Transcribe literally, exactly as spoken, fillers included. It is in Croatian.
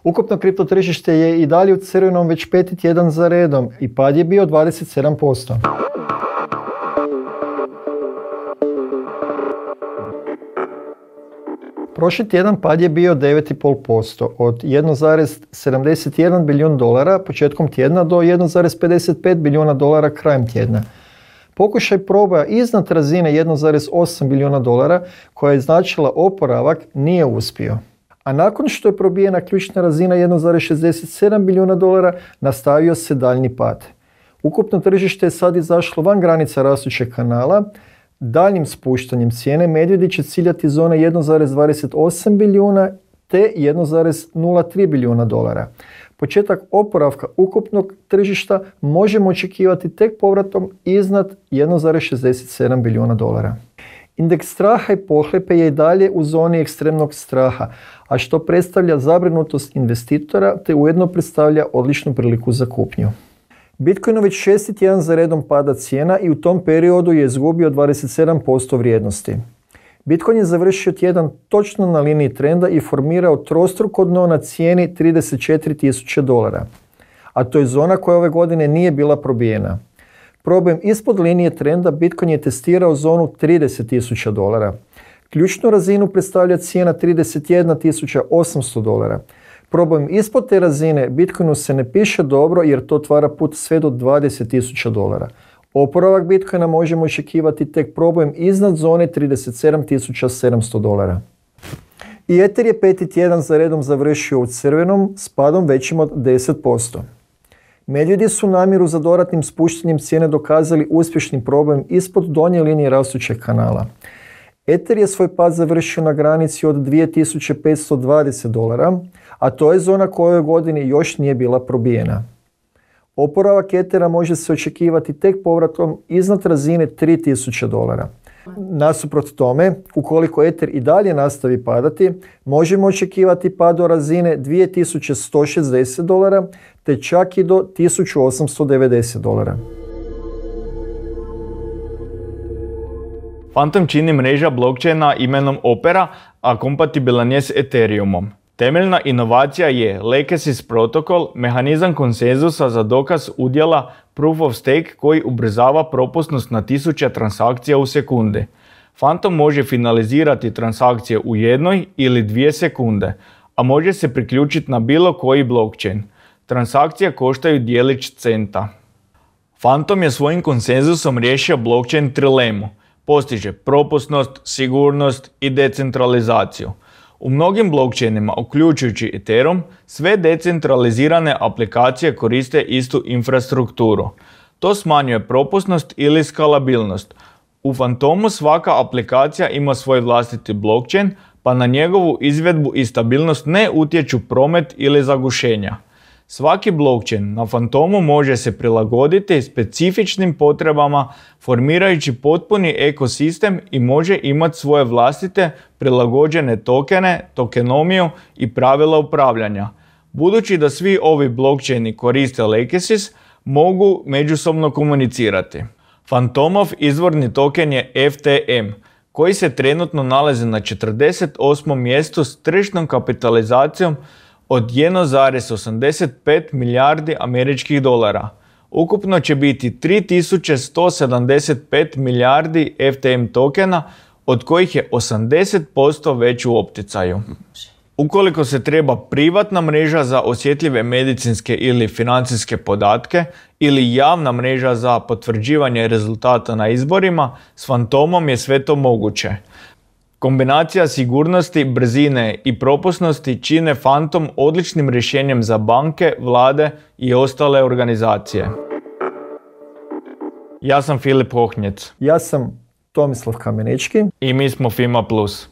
Ukupno kripto tržište je i dalje u crvenom već peti tjedan za redom i pad je bio dvadeset sedam posto. Prošli tjedan pad je bio devet zarez pet posto, od jedan zarez sedamdeset jedan bilijun dolara početkom tjedna do jedan zarez pedeset pet bilijuna dolara krajem tjedna. Pokušaj proboja iznad razine jedan zarez osam bilijuna dolara koja je značila oporavak nije uspio. A nakon što je probijena ključna razina jedan zarez šezdeset sedam bilijuna dolara nastavio se daljnji pad. Ukupno tržište je sad izašlo van granica rastućeg kanala. Daljnjim spuštanjem cijene medvjedi će ciljati zone jedan zarez dvadeset osam bilijuna te jedan zarez nula tri bilijuna dolara. Početak oporavka ukupnog tržišta možemo očekivati tek povratom iznad jedan zarez šezdeset sedam bilijuna dolara. Indeks straha i pohlepe je i dalje u zoni ekstremnog straha, a što predstavlja zabrinutost investitora te ujedno predstavlja odličnu priliku za kupnju. Bitcoin već šesti tjedan za redom pada cijena i u tom periodu je izgubio dvadeset sedam posto vrijednosti. Bitcoin je završio tjedan točno na liniji trenda i formirao trostruko dno na cijeni trideset četiri tisuće dolara, a to je zona koja ove godine nije bila probijena. Probojem ispod linije trenda Bitcoin je testirao zonu trideset tisuća dolara. Ključnu razinu predstavlja cijena trideset jedna tisuća osamsto dolara. Probojem ispod te razine Bitcoinu se ne piše dobro jer to otvara put sve do dvadeset tisuća dolara. Oporavak Bitcoina možemo očekivati tek probojem iznad zone trideset sedam tisuća sedamsto dolara. I Ether je peti tjedan za redom završio u crvenom s padom većim od deset posto. Medvjedi su namjeru za dodatnim spuštanjem cijene dokazali uspješnim probojem ispod donje linije rastućeg kanala. Ether je svoj pad završio na granici od dvije tisuće petsto dvadeset dolara, a to je zona koja u ovoj godini još nije bila probijena. Oporavak Ethera može se očekivati tek povratom iznad razine tri tisuće dolara. Nasuprot tome, ukoliko Ether i dalje nastavi padati, možemo očekivati pad do razine dvije tisuće sto šezdeset dolara te čak i do tisuću osamsto devedeset dolara. Fantom čini mreža blockchaina imenom Opera, a kompatibilan je s Ethereumom. Temeljna inovacija je Legacy protokol, mehanizam konsenzusa za dokaz udjela Proof of Stake koji ubrzava propusnost na tisuće transakcija u sekundi. Fantom može finalizirati transakcije u jednoj ili dvije sekunde, a može se priključiti na bilo koji blockchain. Transakcije koštaju djelić centa. Fantom je svojim konsenzusom riješio blockchain trilemu. Postiže propusnost, sigurnost i decentralizaciju. U mnogim blockchainima, uključujući Ethereum, sve decentralizirane aplikacije koriste istu infrastrukturu. To smanjuje propusnost ili skalabilnost. U Fantomu svaka aplikacija ima svoj vlastiti blockchain, pa na njegovu izvedbu i stabilnost ne utječu promet ili zagušenja. Svaki blockchain na Fantomu može se prilagoditi specifičnim potrebama formirajući potpuni ekosistem i može imati svoje vlastite prilagođene tokene, tokenomiju i pravila upravljanja. Budući da svi ovi blockchaini koriste Legacy, mogu međusobno komunicirati. Fantomov izvorni token je F T M, koji se trenutno nalazi na četrdeset osmom mjestu s tržišnom kapitalizacijom od jedan zarez osamdeset pet milijardi američkih dolara. Ukupno će biti tri tisuće sto sedamdeset pet milijardi F T M tokena, od kojih je osamdeset posto već u opticaju. Ukoliko se treba privatna mreža za osjetljive medicinske ili financijske podatke ili javna mreža za potvrđivanje rezultata na izborima, s Fantomom je sve to moguće. Kombinacija sigurnosti, brzine i propusnosti čine Fantom odličnim rješenjem za banke, vlade i ostale organizacije. Ja sam Filip Hohnjec. Ja sam Tomislav Kamenički. I mi smo Fima Plus.